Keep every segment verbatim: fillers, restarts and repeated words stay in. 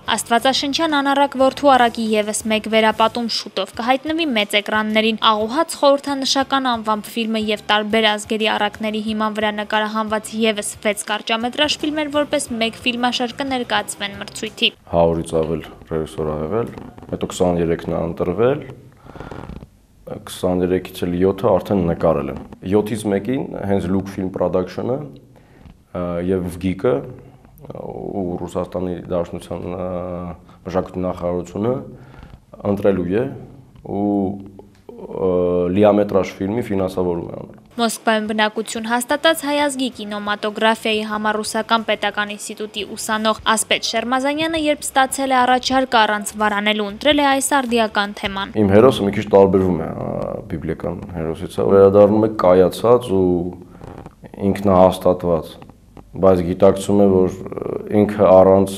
Աստվածաշնչյան անառակ որդու առակի ևս մեկ վերապատում շուտով կհայտնվի մեծ էկրաններին։ Աղուհաց խորհրդանշական անվամբ ֆիլմը եւ տարբեր ազգերի առակների հիման վրա նկարահանված ևս վեց կարճամետրաժ ֆիլմեր որպես մեկ ֆիլմաշար կներկայացվեն մրցույթի։ հարյուրից ավել ռեժիսոր ա եղել, հետո քսաներեքն ա ընտրվել, քսաներեքից էլ յոթը արդեն նկարել եմ։ յոթից մեկին հենց Look Film Production-ը եւ Վգիկը ու Ռուսաստանի Դաշնության մշակույթի նախարարությունը ընտրելու է ու լիամետրաժ ֆիլմի ֆինանսավորում է անել։ Մոսկվայում բնակություն հաստատած հայ ազգի կինոմատոգրաֆիայի համառուսական պետական ինստիտուտի ուսանող Ասպետ Շերմազանյանը երբ ստացել է առաջարկը առանց վարանելու ընտրել է այս արդիական թեման։ Իմ հերոսը մի քիչ տարբերվում է բիբլիական հերոսից, վերադառնում է կայացած ու ինքնահաստատված, բայց գիտակցում է, որ ինքը առանց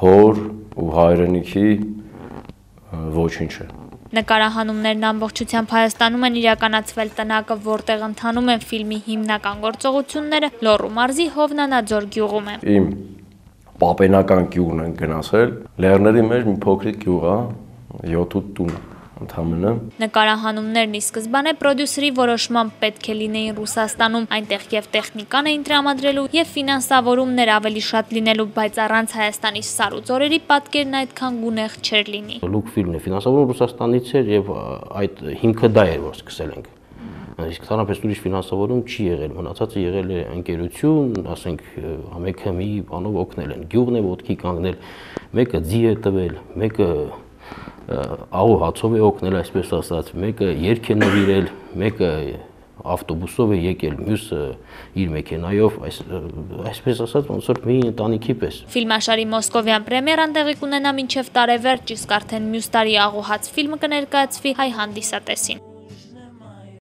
հոր ու հայրենիքի ոչինչ է։ Նկարահանումներն ամբողջությամբ Հայաստանում են իրականացվել տնակը, որտեղ ընթանում են ֆիլմի հիմնական գործողությունները Լոռու մարզի Հովնանաձոր գյուղում է։ Իմ պապենական գյուղն են գնացել, լեռների մեջ մի փոքրիկ գյուղ է, յոթ-ութ տուն ընդամենը։ Նկարահանումներն ի սկզբանե պրոդյուսերի որոշմամբ պետք է լինեին Ռուսաստանում, այնտեղ եւ տեխնիկան էին տրամադրելու եւ ֆինանսավորումներ ավելի շատ լինելու, բայց առանց Հայաստանի սար ու ձորերի պատկերն այդքան գունեղ չէր լինի։ Look ֆիլմն է ֆինանսավորում Ռուսաստանից էր եւ այդ հիմքը դա էր, որ սկսել ենք։ Իսկ ցանրապես ուրիշ ֆինանսավորում չի եղել, մնացածը եղել է ընկերություն, ասենք մեկը մի բանով օգնել են, գյուղն է ոտքի կանգնել, մեկը ձի է տվել, մեկը աղու հացով է օգնել, այսպես ասած, մեկը երգ է նվիրել, մեկը ավտոբուսով է եկել, մյուսը իր մեքենայով, այսպես ասած, ոնց որ մի ընտանիքի պես։ Ֆիլմաշարի մոսկովյան պրեմիերան տեղի կունենա մինչև տարեվերջ, իսկ արդեն մյուս տարի Աղուհաց ֆիլմը կներկայացվի հայ հանդիսատեսին։